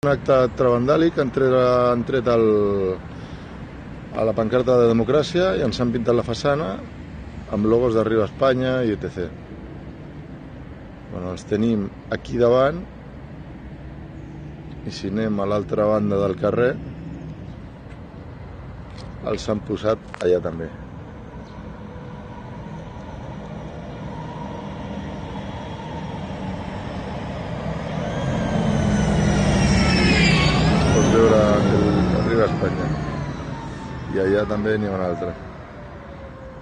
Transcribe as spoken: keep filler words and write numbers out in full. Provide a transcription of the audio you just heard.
Un acte trevandàlic, han tret, han tret el, a la pancarta de democràcia i ens han pintat la façana amb logos d'Arriba Espanya i et cetera. Bueno, els tenim aquí davant i si anem a l'altra banda del carrer els han posat allà també. Pots veure el Arriba Espanya i allà també n'hi ha un altre.